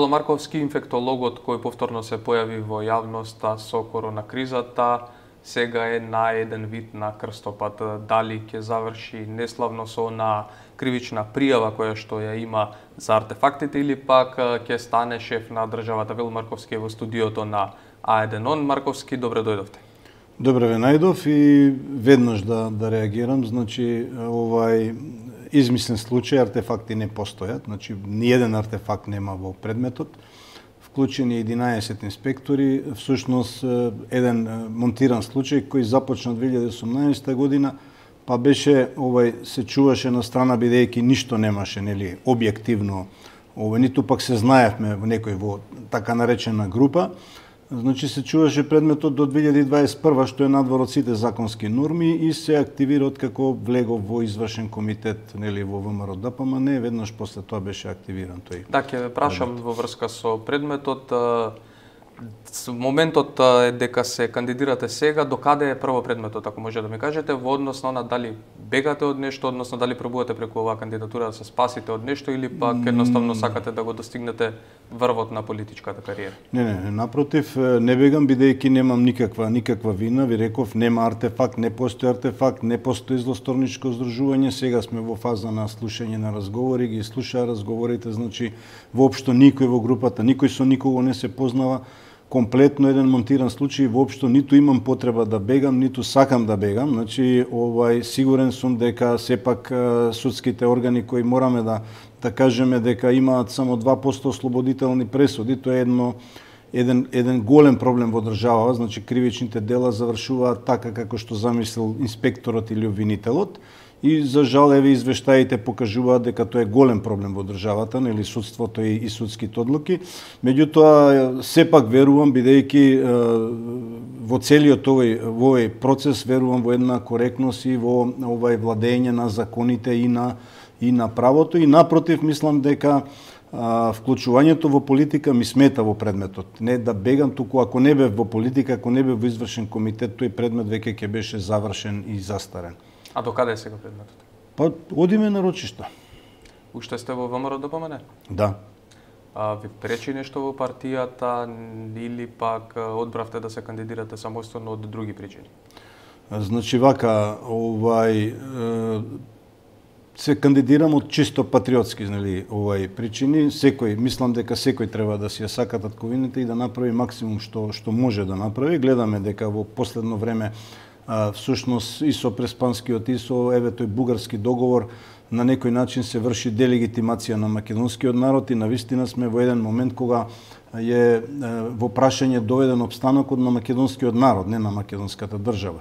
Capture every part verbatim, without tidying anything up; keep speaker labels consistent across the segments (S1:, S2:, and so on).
S1: Марковски, инфектологот кој повторно се појави во јавноста со корона кризата, сега е на еден вид на крстопат. Дали ќе заврши неславно со на кривична пријава која што ја има за артефактите или пак ќе стане шеф на државата? Вел Марковски е во студиото на А еден он. Марковски, добре дојдовте.
S2: Добре ве најдов и веднаш да да реагирам. Значи, овај измислен случај, артефакти не постојат. Значи, ниеден артефакт нема во предметот. Вклучени единаесет инспектори, всушност еден монтиран случај кој започна две илјади и осумнаесетта година, па беше овај се чуваше на страна бидејќи ништо немаше, нели, објективно, овај ниту пак се знаевме во некој во така наречена група. Значи се чуваше предметот до две илјади и дваесет и прва, што е надвор од сите законски норми и се активира откако влегов во извршен комитет, нели, во ВМРО Д П М Н, веднаш после тоа беше активиран тој.
S1: Да, ќе ве прашам во врска со предметот. Моментот е дека се кандидирате сега, докаде е прво предметот, ако може да ми кажете, во однос на дали бегате од нешто, односно дали пробувате преку оваа кандидатура да се спасите од нешто или пак едноставно сакате да го достигнете врвот на политичката кариера?
S2: Не, не, не, напротив, не бегам бидејќи немам никаква никаква вина, ви реков, нема артефакт, не постои артефакт, не постои злосторничко здружување, сега сме во фаза на слушање на разговори, ги слушаа разговорите, значи воопшто никој во групата, никој со никого не се познава. Комплетно еден монтиран случај, воопшто ниту имам потреба да бегам, ниту сакам да бегам. Значи, овај сигурен сум дека сепак судските органи кои мораме да да кажеме дека имаат само два посто ослободителни пресуди, тоа е едно еден еден голем проблем во државава, значи кривичните дела завршуваат така како што замислил инспекторот или обвинителот. И за жал еве извештаите покажуваат дека тоа е голем проблем во државата, нели, судството и, и судските одлуки. Меѓутоа сепак верувам, бидејќи во целиот овој во овој процес верувам во една коректност и во овај владење на законите и на и на правото, и напротив мислам дека а, вклучувањето во политика ми смета во предметот. Не да бегам, туку ако не бев во политика, ако не бев во извршен комитет, тој предмет веќе ќе беше завршен и застарен.
S1: А докаде е сега предметот?
S2: Па одиме на рочишта.
S1: Уште сте во ВМРО Д П М Н?
S2: Да.
S1: А ви пречи нешто во партијата или пак одбравте да се кандидирате самостојно од други причини?
S2: Значи вака, овај се кандидирам од чисто патриотски, нели, овај причини. Секој, мислам дека секој треба да си ја сака татковините и да направи максимум што што може да направи. Гледаме дека во последно време а, всушност и со Преспанскиот и со еве тој бугарски договор на некој начин се врши делегитимација на македонскиот народ и навистина сме во еден момент кога е во прашање доведен обстанокот на македонскиот народ, не на македонската држава.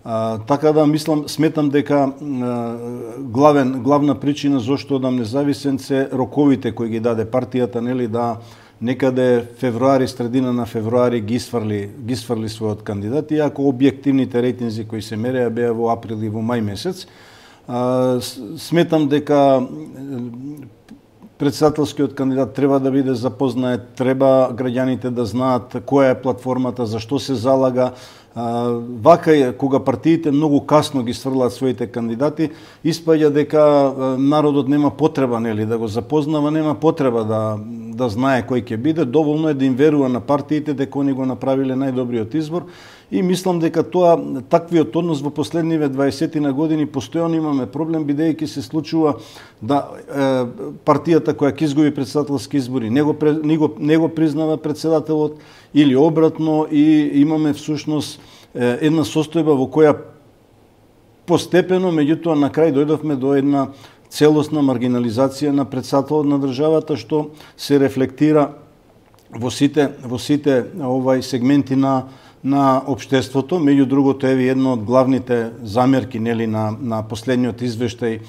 S2: А, така да мислам, сметам дека а, главен главна причина зошто одам независен се роковите кои ги даде партијата, нели, да некаде февруари, средина на февруари ги сврли ги сврли својот кандидат, иако објективните рейтинзи кои се мереа беа во април и во мај месец. А, сметам дека председателскиот кандидат треба да биде запознает, треба граѓаните да знаат која е платформата, зашто се залага. А, вака е, кога партиите многу касно ги сврлаат своите кандидати, испаѓа дека народот нема потреба, нели, да го запознава, нема потреба да да знае кој ќе биде, доволно е да им верува на партиите дека они го направиле најдобриот избор. И мислам дека тоа, таквиот однос во последниве дваесетина години постојано имаме проблем, бидејќи се случува да е, партијата која ќе изгуби председателски избори не го, не го, не го признава председателот или обратно, и имаме всушност е, една состојба во која постепено, меѓутоа на крај дојдовме до една целосна маргинализација на председателот на државата, што се рефлектира во сите во сите овај сегменти на на општеството. Меѓу другото, еве една од главните замерки, нели, на на последниот извештај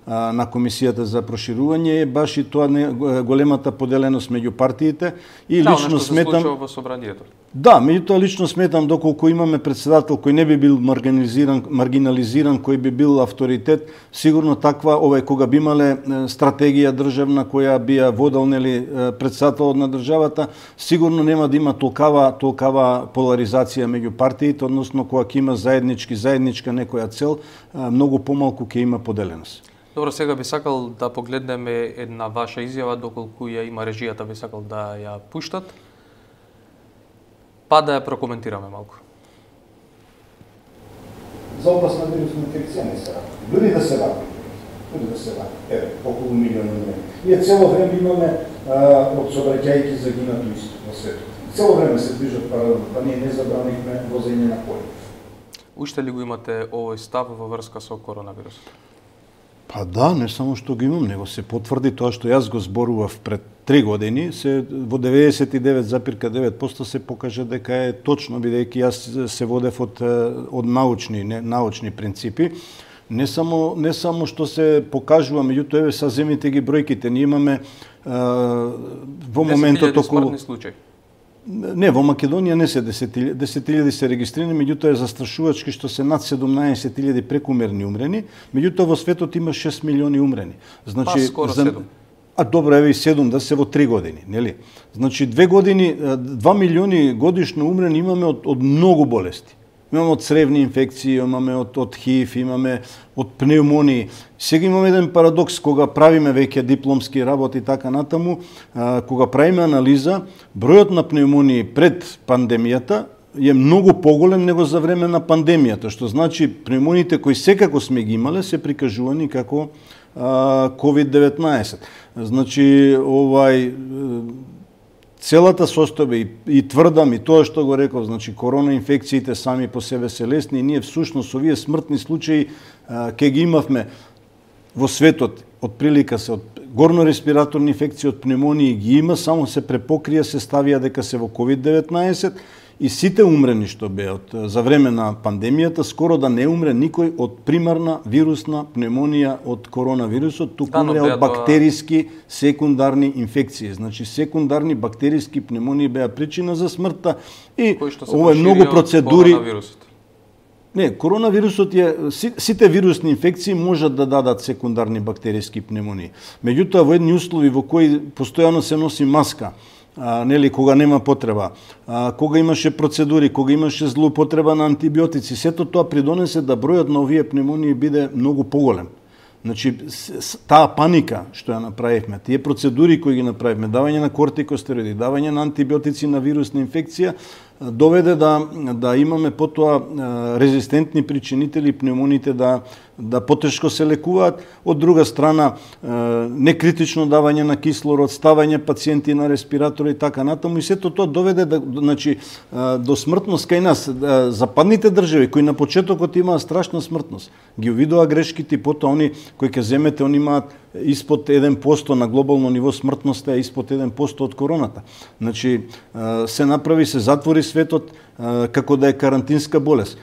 S2: а, на Комисијата за проширување е баш и тоа, не, големата поделеност меѓу партиите, и
S1: да,
S2: лично сметам
S1: се во собранието.
S2: Да, меѓутоа лично сметам доколку имаме председател кој не би бил маргинализиран, маргинализиран, кој би бил авторитет, сигурно таква, овај кога би имале стратегија државна која би ја водел, нели, председателот на државата, сигурно нема да има толкава толкава поларизација меѓу партиите, односно кога ќе има заеднички заедничка некоја цел, многу помалку ќе има поделеност.
S1: Добро, сега би сакал да погледнеме една ваша изјава, доколку ја има режијата, би сакал да ја пуштат, па да ја прокоментираме малку.
S2: За опасна вирусна инфекција не се работи. Дури да се работи, дури да се работи, еве, околу милион умрени. Ние цело време имаме а, од сообраќајки загинато исто во светот. Цело време се движат паралелно, па ние не забранихме возење на коли.
S1: Уште ли го имате овој став во врска со коронавирусот?
S2: Па да, не само што го имам, него се потврди тоа што јас го зборував пред три години, се во деветдесет и девет зарез девет проценти се покажа дека е точно, бидејќи јас се водев од од научни, не, научни принципи. Не само не само што се покажува, меѓутоа еве са земите ги бројките, ние имаме а, во моментот околу
S1: смртни случаи.
S2: Не, во Македонија не се десет илјади се регистрирани, меѓутоа е застрашувачки што се над седумнаесет илјади прекумерни умрени, меѓутоа во светот има шест милиони умрени. Значи,
S1: па скоро седум.
S2: А добро, еве и седум да се во три години, нели? Значи две години, два милиони годишно умрени имаме од, од многу болести. Имаме од цревни инфекции, имаме од, од ХИВ, имаме од пневмонии. Сега имаме еден парадокс, кога правиме веќе дипломски работи и така натаму, а, кога правиме анализа, бројот на пневмонии пред пандемијата е многу поголем него за време на пандемијата, што значи пневмониите кои секако сме ги имале се прикажувани како ковид деветнаесет. Значи, овај целата состојба и, и тврдам и тоа што го реков, значи корона инфекциите сами по себе се лесни и ние всушност овие смртни случаи ке ги имавме во светот, од прилика се од горно-респираторни инфекции, од пневмонии ги има, само се препокрија, се ставија дека се во ковид деветнаесет и сите умрени што беа од за време на пандемијата, скоро да не умре никој од примарна вирусна пневмонија од коронавирусот, туку умре од бактериски секундарни инфекции. Значи секундарни бактериски пневмонии беа причина за смртта и ова е многу процедури. Не, коронавирусот е, сите вирусни инфекции можат да дадат секундарни бактериски пневмонии. Меѓутоа во едни услови во кои постојано се носи маска, а, нели, кога нема потреба, а, кога имаше процедури, кога имаше злоупотреба на антибиотици, сето тоа придонесе да бројот на овие пневмонии биде многу поголем. Значи, таа паника што ја направивме, тие процедури кои ги направивме, давање на кортикостероиди, давање на антибиотици на вирусна инфекција, доведе да, да имаме потоа резистентни причинители пневмониите да, да потешко се лекуваат. Од друга страна, некритично давање на кислород, ставање пациенти на респиратори и така натаму. И сето тоа доведе да, значи, до смртност кај нас. Западните држави, кои на почетокот имаат страшна смртност, ги увидоа грешките и потоа они кои ќе земете, они имаат испод еден проценти на глобално ниво смртноста е испод еден проценти од короната. Значи, се направи, се затвори светот како да е карантинска болест.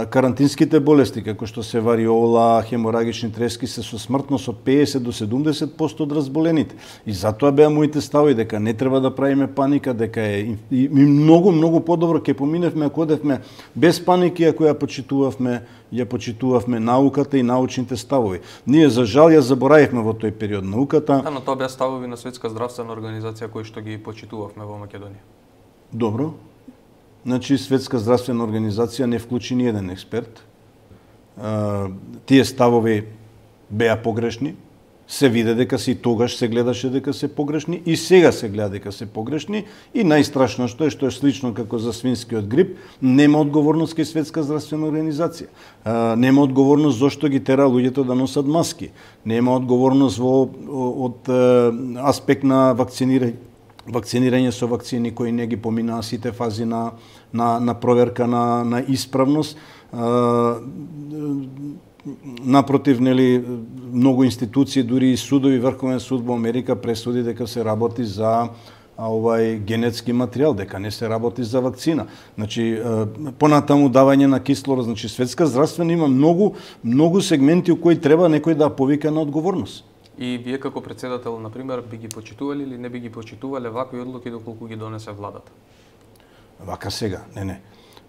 S2: Карантинските болести, како што се вариола, хеморагични трески, се со смртност од педесет до седумдесет проценти од разболените. И затоа беа моите стави дека не треба да правиме паника, дека е и многу, многу подобро ќе поминевме ако одевме без паники, ако ја почитувавме, ја почитувавме науката и научните ставови. Ние за жал ја заборавивме во тој период науката.
S1: Да, но тоа беа ставови на Светска здравствена организација кои што ги почитувавме во Македонија.
S2: Добро. Значи, Светска здравствена организација не вклучи ни еден експерт. Тие ставови беа погрешни. Се виде дека се и тогаш се гледаше дека се погрешни и сега се гледа дека се погрешни и најстрашно што е што е слично како за свинскиот грип, нема одговорност кај Светска здравствена организација. Нема одговорност зошто ги тера луѓето да носат маски. Нема одговорност во од аспект на вакцинирање вакцинирање со вакцини кои не ги поминаа сите фази на, на, на проверка на, на исправност. А, напротив, нели, многу институции, дури и судови, Врховен суд во Америка пресуди дека се работи за а, овај генетски материјал, дека не се работи за вакцина. Значи, понатаму давање на кислород, значи Светска здравствена има многу, многу сегменти у кои треба некој да повика на одговорност.
S1: И вие како председател, например, би ги почитували или не би ги почитувале вакви одлуки доколку ги донесе владата?
S2: Вака сега, не, не.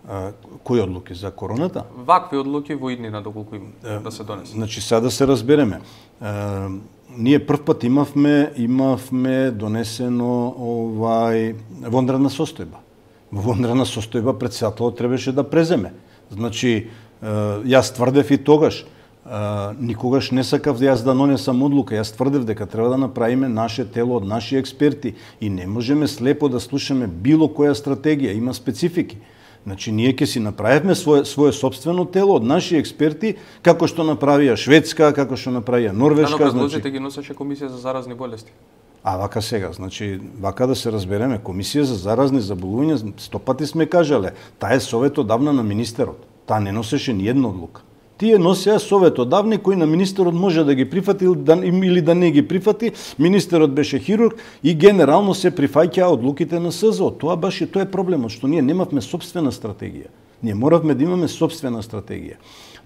S2: А, кои одлуки? За короната?
S1: Вакви одлуки во иднина доколку им да се донесе.
S2: Значи, сега да се разбереме. А, ние прв пат имавме, имавме донесено овај вонредна состојба. Во вонредна состојба председателот требаше да преземе. Значи, а, јас тврдев и тогаш, Uh, никогаш не сакав да јас да нонесам одлука. Јас тврдев дека треба да направиме наше тело од наши експерти и не можеме слепо да слушаме било која стратегија, има специфики. Значи, ние ќе си направивме свое, свое собствено тело од наши експерти, како што направија Шведска, како што направија Норвешка.
S1: Да, но предложите значи... ги носеше Комисија за заразни болести.
S2: А вака сега, значи, вака да се разбереме, Комисија за заразни заболувања, сто пати сме кажале, таа е советодавна на министерот. Таа не носеше ни една одлука. Тие носеа советодавни кои на министерот може да ги прифати или да не ги прифати. Министерот беше хирург и генерално се прифаќаа одлуките на СЗО. Тоа баш и тоа е проблемот, што ние немавме собствена стратегија. Ние моравме да имаме собствена стратегија.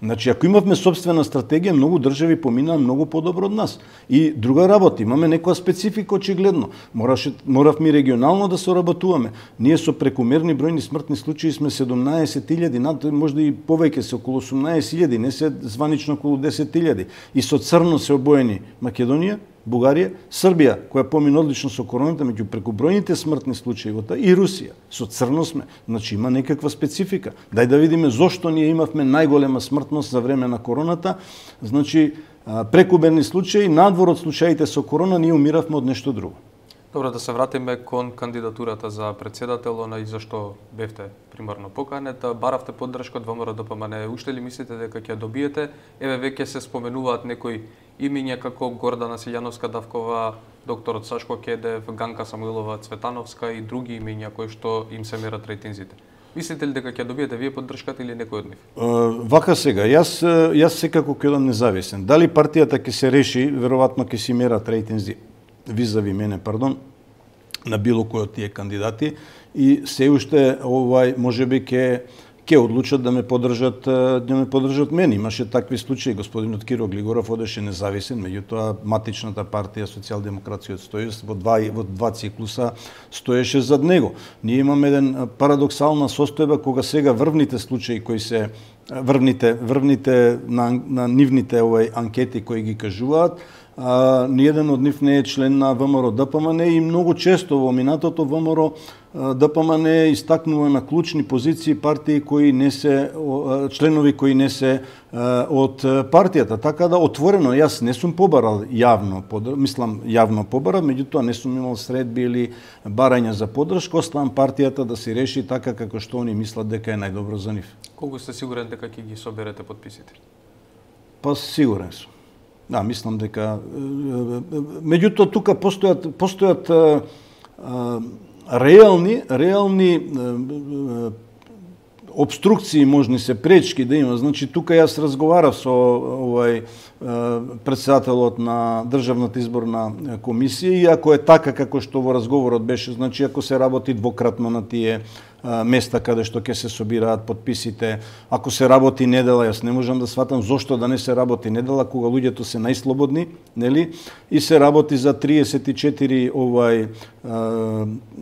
S2: Значи, ако имавме собствена стратегија, многу држави поминаа многу подобро од нас. И друга работа, имаме некоја специфика очигледно. Мораше, моравме регионално да соработуваме. Ние со прекумерни бројни смртни случаи сме седумнаесет илјади, над можда и повеќе се околу осумнаесет илјади, не се званично околу десет илјади. И со црно се обоени Македонија, Бугарија, Србија, која помина одлично со короната, меѓу прекубројните смртни случаи во таа, и Русија. Со црно сме. Значи има некаква специфика. Дај да видиме зошто ние имавме најголема смртност за време на короната. Значи, прекуберни случаи, надвор од случаите со корона, ние умиравме од нешто друго.
S1: Добро, да се вратиме кон кандидатурата за председател, она и зашто бевте примарно поканета, баравте поддршка од ВМРО Д П М Н. Уште ли мислите дека ќе добиете? Еве веќе се споменуваат некои имиња како Гордана Силјановска-Давкова, докторот Сашко Кедев, Ганка Самуилова Цветановска и други имиња кои што им се мерат рейтинзите. Мислите ли дека ќе добиете вие поддршката или некој од нив?
S2: Uh, вака сега, јас јас секако ќе одам независен. Дали партијата ќе се реши, веројатно ќе си мерат рейтинзи визави мене, пардон, на било кој од тие кандидати и се уште овај можеби ќе ќе одлучат да ме поддржат да ме поддржат мене. Имаше такви случаи, господинот Киро Глигоров одеше независен, меѓутоа матичната партија Социјалдемократскиот сојуз во два во два циклуса стоеше зад него. Ние имаме еден парадоксална состојба кога сега врвните случаи кои се врвните врвните на, на нивните овај анкети кои ги кажуваат, а, ниеден од нив не е член на ВМРО Д П М Н и многу често во минатото ВМРО Д П М Н истакнува на клучни позиции партии кои не се членови кои не се од партијата. Така да отворено јас не сум побарал јавно, мислам јавно побарал, меѓутоа не сум имал средби или барања за поддршка, оставам партијата да се реши така како што они мислат дека е најдобро за нив.
S1: Колку сте сигурен дека ќе ги соберете подписите?
S2: Па сигурен сум. Да, мислам дека меѓутоа тука постојат постојат а, а, реални реални а, обструкции, можни се пречки да има. Значи тука јас разговарав со овај председателот на Државната изборна комисија и ако е така како што во разговорот беше, значи ако се работи двократно на тие места каде што ќе се собираат подписите, ако се работи недела, јас не можам да сватам зошто да не се работи недела кога луѓето се најслободни, нели? И се работи за триесет и четири овај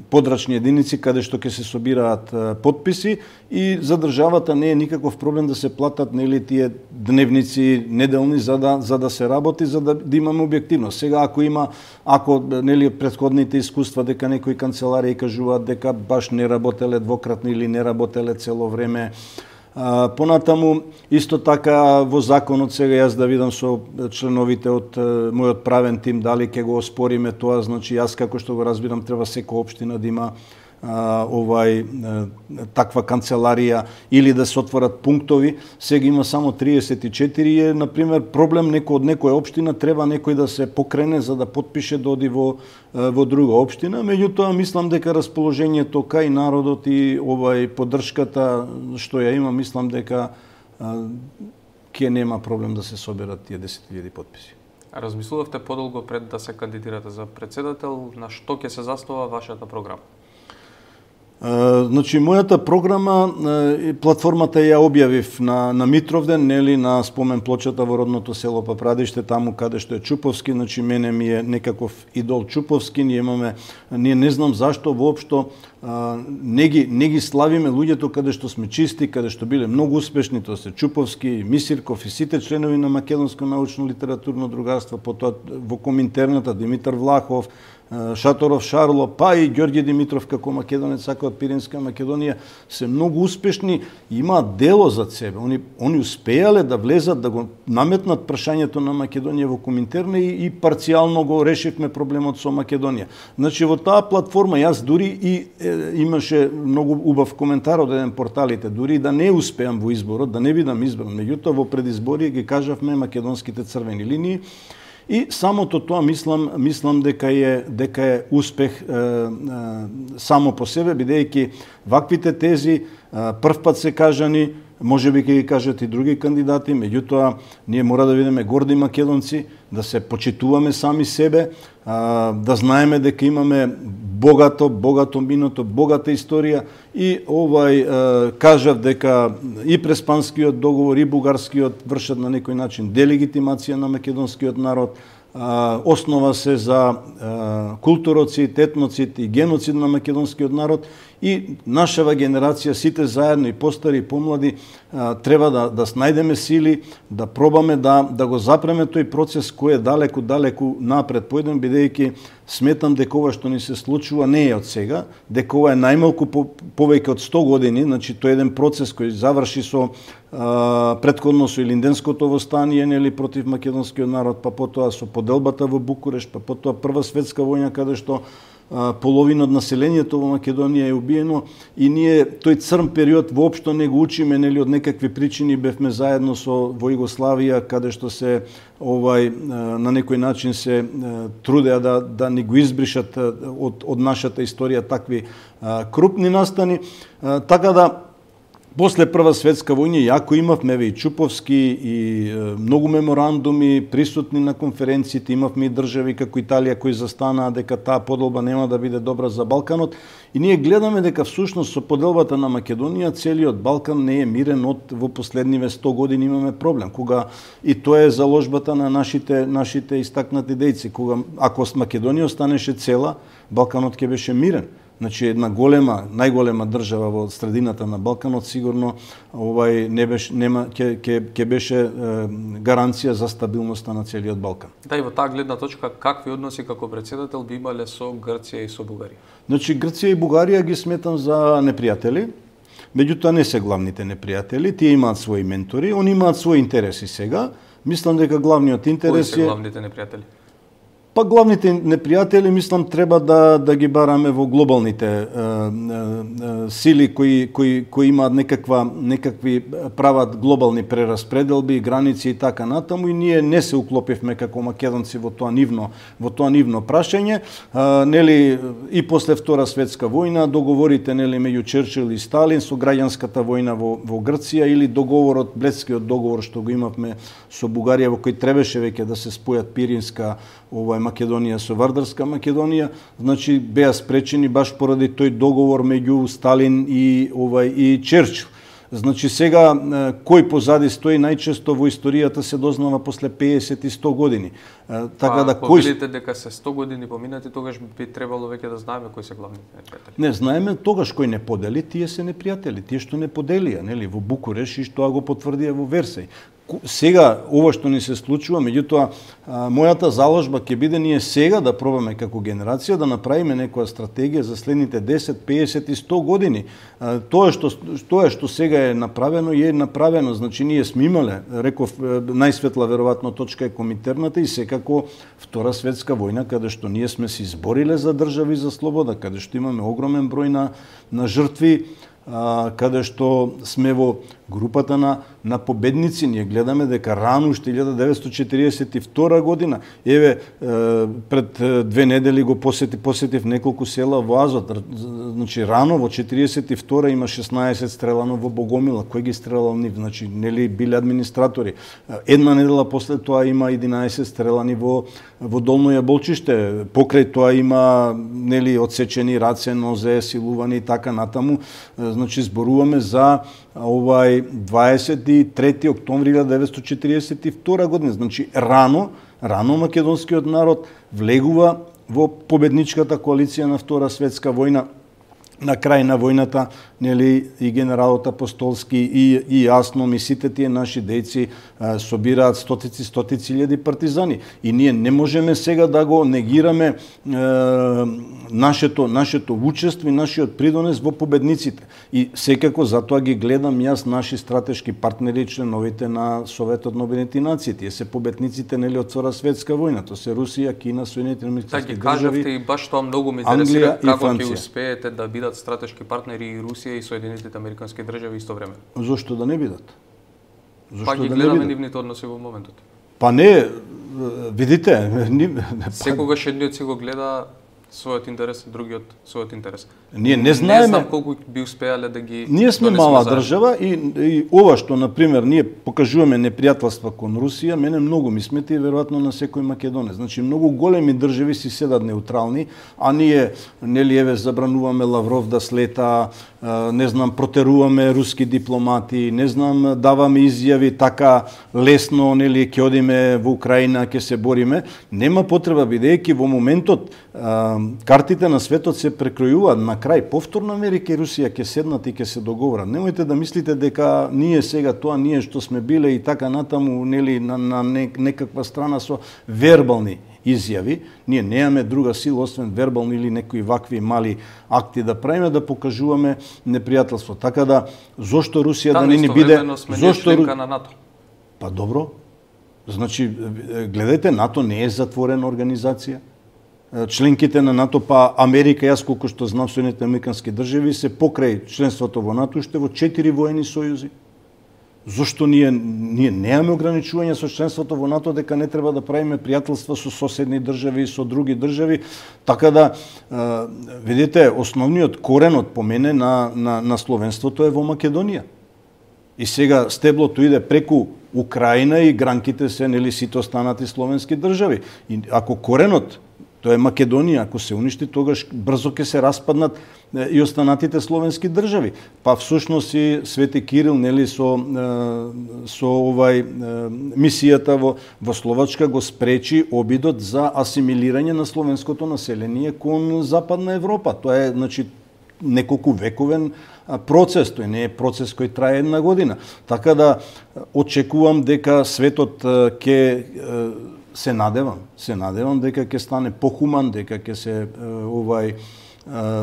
S2: подрачни единици каде што ќе се собираат подписи и за државата не е никаков проблем да се платат нели тие дневници неделни за да за да се работи, за да, да имаме објективност. Сега ако има ако нели претходните искуства дека некои канцеларии кажуваат дека баш не работеле двократно или не работеле цело време. А, понатаму исто така во законот сега јас да видам со членовите од мојот правен тим дали ќе го оспориме тоа, значи јас како што го разбирам треба секоја општина да има а, овај а, таква канцеларија или да се отворат пунктови. Сега има само триесет и четири е на пример проблем некој од некоја општина треба некој да се покрене за да потпише да оди во во друга општина, меѓутоа мислам дека расположението кај народот и овај поддршката што ја има, мислам дека ќе нема проблем да се соберат тие десет илјади потписи.
S1: Размислувавте подолго пред да се кандидирате за председател, на што ќе се заснова вашата програма?
S2: Uh, значи, мојата програма, uh, платформата ја објавив на, на Митровден, нели, на спомен плочата во родното село Папрадиште, таму каде што е Чуповски, значи мене ми е некаков идол Чуповски, ние имаме, ние не знам зашто воопшто uh, не, ги, не ги славиме луѓето каде што сме чисти, каде што биле многу успешни, тоа се Чуповски, Мисирков и сите членови на Македонско научно литературно другарство, потоа во Коминтерната, Димитар Влахов, Шаторов Шарло, па и Ѓорѓе Димитров како македонец, сака од Пиринска Македонија, се многу успешни и имаат дело зад себе. Они, они успеале да влезат, да го наметнат прашањето на Македонија во Коминтерна и, и парцијално го решивме проблемот со Македонија. Значи, во таа платформа јас дури и е, имаше многу убав коментар од еден порталите, дури да не успеам во изборот, да не бидам избран. Меѓутоа, во предизборие ги кажавме македонските црвени линии и самото тоа мислам, мислам дека е дека е успех е, е, само по себе, бидејќи ваквите тези е, првпат се кажани, може би ќе ги кажат и други кандидати, меѓутоа ние мора да бидеме горди македонци, да се почитуваме сами себе, да знаеме дека имаме богато, богато минато, богата историја и овај кажав дека и Преспанскиот договор и Бугарскиот вршат на некој начин делегитимација на македонскиот народ, основа се за културоцид, етноцид и геноцид на македонскиот народ и нашава генерација, сите заедно, и постари и помлади, треба да, да снајдеме сили, да пробаме да, да го запреме тој процес кој е далеку, далеку напред појден, бидејќи сметам дека ова што ни се случува не е од сега, дека ова е најмалку по, повеќе од сто години, значи тој е еден процес кој заврши со а, предходно со Илинденското востание, нели, против македонскиот народ, па потоа со поделбата во Букурешт, па потоа Прва светска војна, каде што половина од населението во Македонија е убиено и ние тој црн период воопшто не го учиме, нели, од некакви причини бевме заедно со во Југославија, каде што се овај на некој начин се трудеа да да ни го избришат од од нашата историја такви крупни настани, така да после Прва светска војна, јако имавме и Чуповски и многу меморандуми, присутни на конференциите, имавме и држави како Италија кои застанаа дека таа поделба нема да биде добра за Балканот. И ние гледаме дека всушност со поделбата на Македонија целиот Балкан не е мирен од во последниве сто години имаме проблем. Кога и тоа е заложбата на нашите нашите истакнати дејци, кога ако Македонија останеше цела, Балканот ќе беше мирен. Значи една голема, најголема држава во средината на Балканот сигурно овај не беше нема ќе ќе ќе беше е, гаранција за стабилноста на целиот Балкан.
S1: Да, и во таа гледна точка какви односи како председател би имале со Грција и со Бугарија?
S2: Значи Грција и Бугарија ги сметам за непријатели. Меѓутоа не се главните непријатели, тие имаат своји ментори, они имаат своји интереси сега. Мислам дека главниот интерес е...
S1: Кои се главните непријатели?
S2: Па главните непријатели, мислам, треба да да ги бараме во глобалните е, е, сили кои кои кои имаат некаква некакви прават глобални прераспределби, граници и така натаму, и ние не се уклопивме како македонци во тоа нивно во тоа нивно прашање. Е, нели и после Втора светска војна договорите, нели, меѓу Черчил и Сталин со граѓанската војна во во Грција или договорот, Бледскиот договор што го имавме со Бугарија, во кој требаше веќе да се спојат Пиринска овај Македонија со Вардарска Македонија, значи беа спречени баш поради тој договор меѓу Сталин и овај и Черчил. Значи сега кој позади стои најчесто во историјата се дознава после песет и сто години. Така
S1: а,
S2: да
S1: кој видите дека се сто години поминати, тогаш би требало веќе да знаеме кои се главните непријатели.
S2: Не знаеме тогаш кој не подели, тие се непријатели, тие што не поделија, нели, во Букуреш и што го потврдија во Версај. Сега ова што ни се случува, меѓутоа мојата заложба ќе биде ние сега да пробаме како генерација да направиме некоја стратегија за следните десет, песет и сто години. Тоа што тоа што сега е направено е направено, значи ние сме имале, реков, најсветла веројатно точка е Коминтерната и секако Втора светска војна, каде што ние сме се избориле за држави за слобода, каде што имаме огромен број на на жртви, каде што сме во групата на на победници. Ние гледаме дека рано уште илјада деветстотини четириесет и втора година, еве пред две недели го посети посетив неколку села во Азот. Значи рано во четириесет и втора има шеснаесет стрелано во Богомила. Кој ги стрелал нив? Значи нели биле администратори. Една недела после тоа има единаесет стрелани во во Долно Јаболчиште. Покрај тоа има нели одсечени раце, нозе, силувани и така натаму. Значи зборуваме за овај дваесет и трети октомври илјада деветстотини четириесет и втора година. Значи рано, рано македонскиот народ влегува во победничката коалиција на Втора светска војна на крај на војната, нели, и генералот Апостолски и, и јасно ми сите тие наши дејци а, собираат стотици, стотици илјади партизани. И ние не можеме сега да го негираме е, нашето, нашето учество и нашиот придонес во победниците. И секако затоа ги гледам јас наши стратешки партнери, членовите на Советот на Обединетите нации. Тие се победниците, нели, од Втора светска војна. Тоа се Русија, Кина, Соединените американски
S1: држави. Така ги кажавте и баш тоа многу ме интересира, како ќе успеете да бидат стратешки партнери и Русија и Соединетите американски држави исто време.
S2: Зошто да не бидат?
S1: Зошто па ги да гледаме нивните односи во моментот.
S2: Па не, видите,
S1: секогаш едниот си го гледа својот интерес, другиот својот интерес.
S2: Ние не знаеме,
S1: не знам колку би успеале да ги
S2: ние сме мала држава и, и ова што на пример ние покажуваме непријателства кон Русија, мене многу ми смета и веројатно на секој македонец. Значи многу големи држави си седат неутрални, а ние нели еве забрануваме Лавров да слета, не знам, протеруваме руски дипломати, не знам, даваме изјави така лесно, нели ќе одиме во Украина, ќе се бориме. Нема потреба, бидејќи во моментот картите на светот се прекројуваат. На крај повторно Америка и Русија ќе седнат и ќе се договорат. Немојте да мислите дека ние сега тоа ние што сме биле и така натаму, нели, на, на некаква страна со вербални изјави, ние немаме друга сила освен вербални или некои вакви мали акти да правиме, да покажуваме непријателство. Така да зошто Русија да, да не ни биде
S1: зошто членка на НАТО?
S2: Па добро. Значи гледајте, НАТО не е затворена организација. Членките на НАТО, па Америка, јас колку што знам, Соединетите американски држави се покрај членството во НАТО уште во четири воени сојузи. Зошто ние ние немаме ограничување со членството во НАТО дека не треба да правиме пријателства со соседни држави и со други држави, така да видите, основниот коренот по мене на на на словенството е во Македонија. И сега стеблото иде преку Украина и гранките се, нели, сите останати словенски држави. И ако коренот тоа е Македонија, ако се уништи, тогаш брзо ќе се распаднат и останатите словенски држави. Па всушност и Свети Кирил, нели, со со овај мисијата во во Словачка го спречи обидот за асимилирање на словенското население кон Западна Европа. Тоа е, значи, неколку вековен процес, тој не е процес кој трае една година. Така да очекувам дека светот ќе се надевам, се надевам дека ќе стане похуман, дека ќе се овај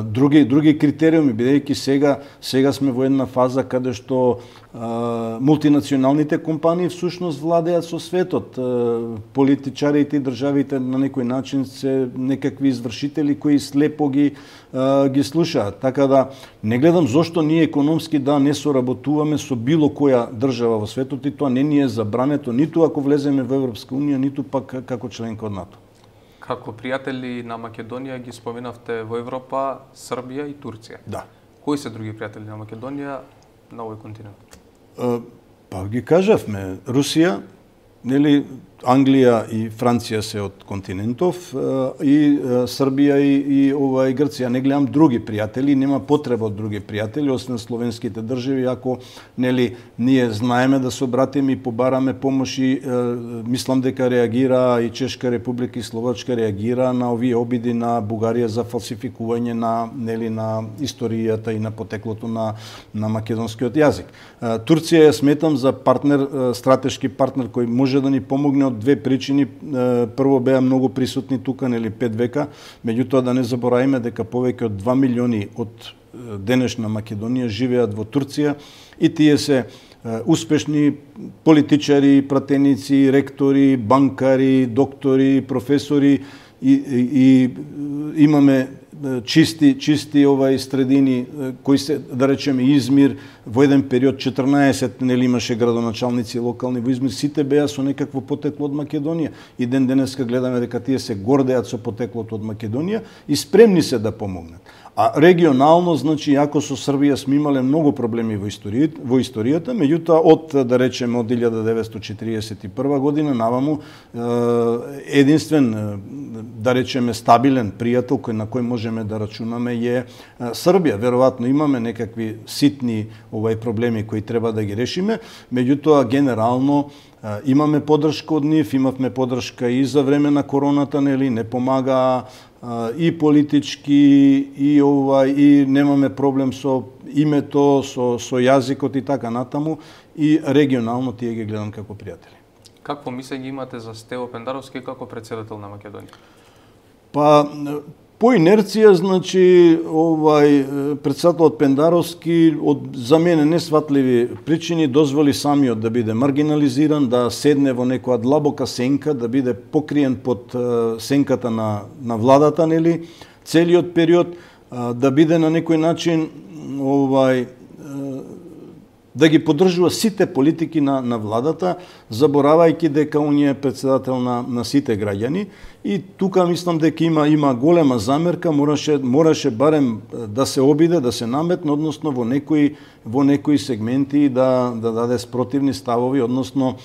S2: други други критериуми, бидејќи сега сега сме во една фаза каде што а, мултинационалните компании всушност владеат со светот. А, политичарите и државите на некој начин се некакви извршители кои слепо ги а, ги слушаат. Така да не гледам зошто ние економски да не соработуваме со било која држава во светот и тоа не ни е забрането ниту ако влеземе во Европска унија, ниту пак како членка од НАТО.
S1: Како пријатели на Македонија ги споменавте во Европа, Србија и Турција.
S2: Да.
S1: Кои се други пријатели на Македонија на овој континент?
S2: Uh, па ги кажавме, Русија, нели, Англија и Франција се од континентов и Србија и, и ова и Грција. Не гледам други пријатели, нема потреба од други пријатели освен словенските држави. Ако нели ние знаеме да се обратиме и побараме помош и е, мислам дека реагира и Чешка република и Словачка реагира на овие обиди на Бугарија за фалсификување на нели на историјата и на потеклото на на македонскиот јазик. Е, Турција ја сметам за партнер, стратешки партнер кој може да ни помогне од две причини. Прво беа многу присутни тука, нели пет века, меѓутоа да не забораваме дека повеќе од два милиони од денешна Македонија живеат во Турција и тие се успешни политичари, пратеници, ректори, банкари, доктори, професори и, и, и имаме чисти чисти овај средини кои се, да речеме, Измир во еден период четрнаесет нели имаше градоначалници локални во Измир, сите беа со некакво потекло од Македонија и ден денеска гледаме дека тие се гордеат со потеклото од Македонија и спремни се да помогнат. А регионално, значи, ако со Србија сме имале многу проблеми во историјата, во историјата, меѓутоа од, да речеме, од илјада деветстотини четиридесет и прва година наваму единствен, да речеме, стабилен пријател кој на кој можеме да рачунаме е Србија. Веројатно имаме некакви ситни овај проблеми кои треба да ги решиме, меѓутоа генерално имаме поддршка од нив, имавме поддршка и за време на короната, нели, не помага и политички и ова и немаме проблем со името, со со јазикот и така натаму и регионално тие ги гледам како пријатели.
S1: Какво мислење имате за Стево Пендаровски како председател на Македонија?
S2: Па по инерција, значи, овај председателот Пендаровски од за мене несватливи причини дозволи самиот да биде маргинализиран, да седне во некоја длабока сенка, да биде покриен под сенката на на владата, нели, целиот период, да биде на некој начин овај да ги поддржува сите политики на на владата, заборавајќи дека он е председател на на сите граѓани. И тука мислам дека има има голема замерка, мораше мораше барем да се обиде, да се наметне, односно во некои во некои сегменти да да даде спротивни ставови, односно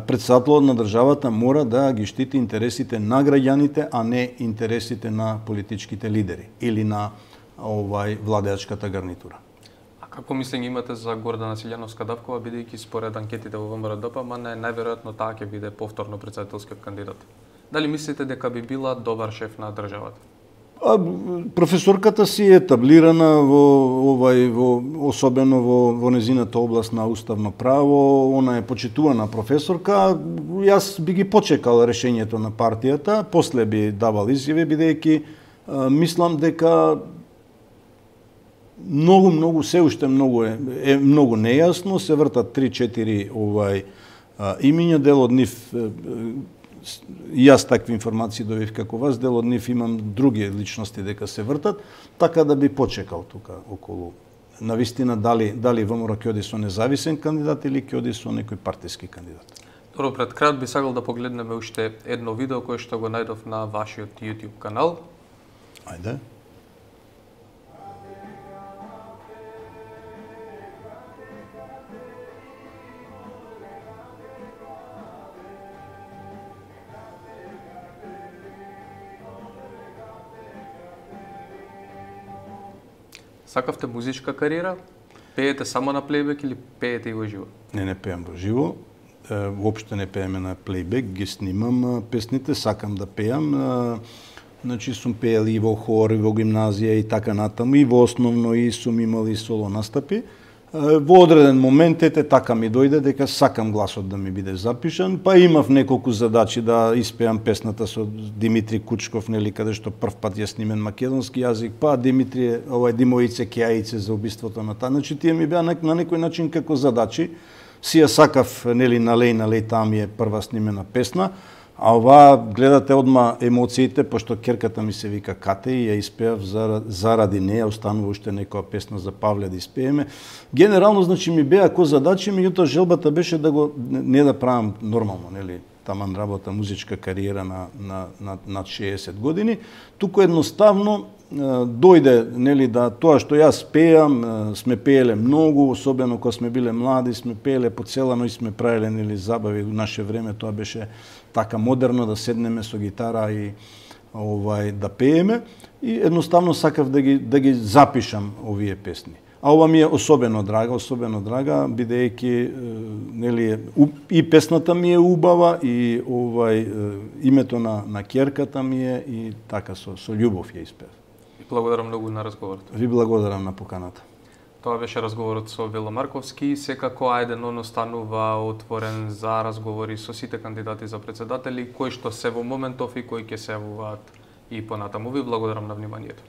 S2: председателот на државата мора да ги штити интересите на граѓаните, а не интересите на политичките лидери или на овај владеачката гарнитура.
S1: Како мислење имате за Гордана Силјановска-Давкова, бидејќи според анкетите во ВМРО-ДПМН најверојатно таа ќе биде повторно председателскиот кандидат? Дали мислите дека би била добар шеф на државата?
S2: А, професорката си е таблирана во овај во особено во во незината област на уставно право, она е почитувана професорка. Јас би ги почекал решењето на партијата, после би давал изјави, бидејќи мислам дека многу многу се уште многу е, е многу нејасно, се вртат три-четири овај а, имиња, дел од нив е, јас такви информации добив како вас, дел од нив имам други личности дека се вртат, така да би почекал тука околу навистина дали дали ВМРО ќе оди со независен кандидат или ќе оди со некој партиски кандидат.
S1: Добро, пред крај би сакал да погледнеме уште едно видео кое што го најдов на вашиот YouTube канал.
S2: Ајде.
S1: Сакавте музичка кариера? Пеете само на плейбек или пеете и во живо?
S2: Не, не пеам во живо. Воопшто не пееме на плейбек, ги снимам песните, сакам да пеам. Значи сум пеел и во хор, и во гимназија и така натаму, и во основно и сум имал и соло настапи. Во одреден момент ете така ми дојде дека сакам гласот да ми биде запишан, па имав неколку задачи да испеам песната со Димитри Кучков, нели, каде што прв пат ја снимен македонски јазик, па Димитри, овај Димоице Кејаице за убиството на таа. Значи тие ми беа на, на некој начин како задачи. Си ја сакав, нели, налеј, налеј, таа ми е прва снимена песна. А ова гледате одма емоциите, пошто керката ми се вика Кате и ја испеав заради неја, останува уште некоја песна за Павле да испееме. Генерално, значи, ми беа ко задачи, меѓутоа желбата беше да го не да правам нормално, нели, таман работа, музичка кариера на на на над шеесет години, туку едноставно дојде, нели, да тоа што јас пеам, сме пееле многу, особено кога сме биле млади, сме пееле по цела ноќ, сме правеле, нели, забави во наше време, тоа беше така модерно да седнеме со гитара и овај да пееме и едноставно сакав да ги да ги запишам овие песни. А ова ми е особено драга, особено драга, бидејќи нели и песната ми е убава и овај името на на ќерката ми е и така со со љубов ја испев.
S1: Благодарам многу на разговорот.
S2: Ви благодарам на поканата.
S1: Тоа беше разговорот со Вело Марковски. Секако Ајден останува отворен за разговори со сите кандидати за председатели, кои што се во моментов и кои ќе се јавуваат и понатаму. Ви благодарам на вниманието.